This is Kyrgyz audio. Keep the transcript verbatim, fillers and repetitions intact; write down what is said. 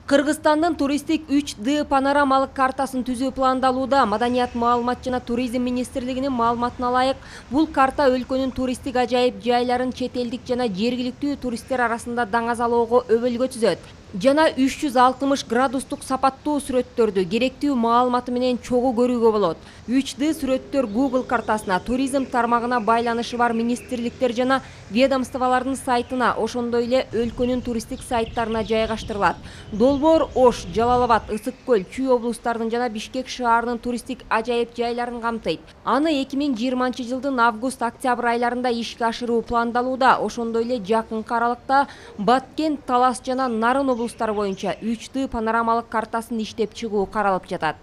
Кыргызстандын туристтик үч дэ панорамалык картасын түзүү пландалууда. Маданият, маалымат жана туризм министрлигинин маалыматына ылайык, бул карта өлкөнүн туристтик ажайып жайларын чет элдик жана жергиликтүү туристтер арасында даңазалоого өбөлгө түзөт. Жана үч жүз алтымыш градустук сапаттуу сүрөттөрдү керектүү маалыматы менен чогуу көрүүгө болот. үч дэ сүрөттөр Google картасына, туризм тармагына байланышы бар министрликтер жана ведомстволордун сайтына, ошондой эле өлкөнүн туристтик сайттарына жайгаштырылат. Долбоор Ош, Жалал-Абад, Ысык көл, Чүй облустарынын жана Бишкек шаарынын туристтик ажайып жайларын камтыйт. Аны эки миң жыйырманчы жылдын август-октябрь айларында ишке ашыруу пландалууда. Ошондой эле жакынкы аралыкта Баткен, Талас жана Нарын облустары боюнча үч дэ панорамалык картасын иштеп чыгуу каралып жатат.